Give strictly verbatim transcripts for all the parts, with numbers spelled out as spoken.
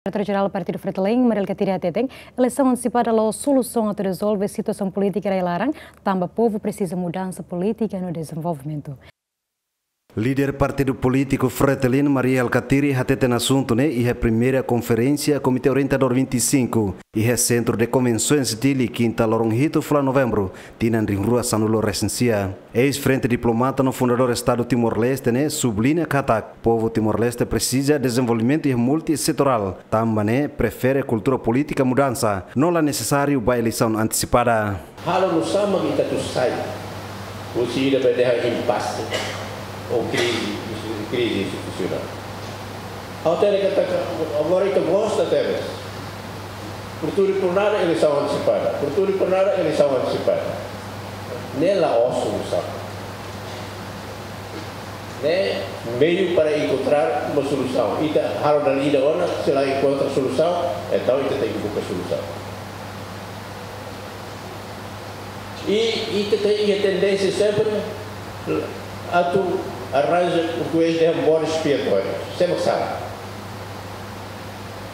Diretór Jerál Partidu Fretilin, Mari Alkatiri hateten, eleisaun antesipada la'ós solusaun atu rezolve situasaun polítika rai-laran, tanba povu presiza mudansa polítika no dezenvolvimentu. Líder partidu polítiku Fretilin, Mari Alkatiri, hateten asuntu ne'e iha primeira konferénsia Komité Orientadór vinte e cinco, iha Sentru de Konvensoens Dili, kinta loron hitu fulan Novembru, tinan rihun rua sanulu resin sia. Eis-frente diplomata no fundadór Estadu Timor-Leste ne'e subliña katak povu Timor-Leste presiza dezenvolvimentu iha multisetorál, tanba ne'e prefere kultura polítika mudansa, no la nesesáriu ba eleisaun antesipada. Halo nu'usá mak ita atu sai husi ida be dehan impase ou krize, krize institusionál. Ha'u hatene katak agora ita gosta tebes. Por tudo e por nada eleisaun antesipada. Por tudo e por nada eleisaun antesipada. Ne'e la'ós solusaun. Ne'e meiu para enkontrar uma solusaun. Ita halo dala ida ona, se la enkontra solusaun, entaun ita tenke buka solusaun. I ita tenke iha tendénsia sempre atu arranja portugés dehan bode expiatóriu. Sé mak sala?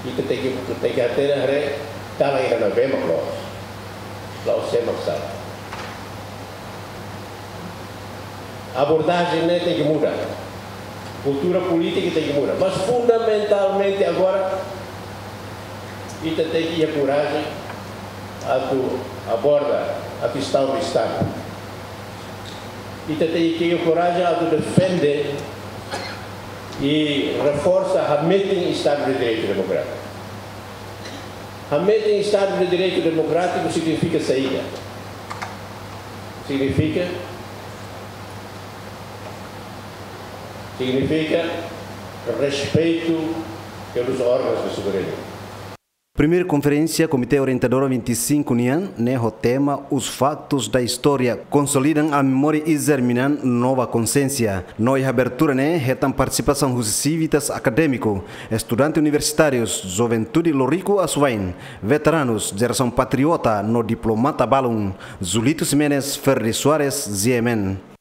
Ita tenke, tenke hatene haree kalan ida ne'ebé mak loos. La'ós sé mak sala. Abordajen ne'e tenke muda. Kultura polítika tenke muda. Mas fundamentalmente agora, ita tenke iha korajen atu aborda a kestaun do Estadu. Ita tenke iha korajen atu defende i reforsa hametin Estadu de Direitu Demokrátiku. Hametin Estadu de Direitu Demokrátiku signifika saida? Signifika, signifika respeitu pelos órgãos de soberania. Primeira konferénsia Komité Orientadór vinte e cinco nian, ne'e ho tema Os Factos da História consolidam a memória e germinam nova consciência. No iha abertura ne'e hetan partisipasaun husi sivitas akadémiku, estudante universitárius, juventude Loriku Asuwain, veteranus, jerasaun patriota no diplomata balun, Julito Ximenes, Ferdi Soares, G M N.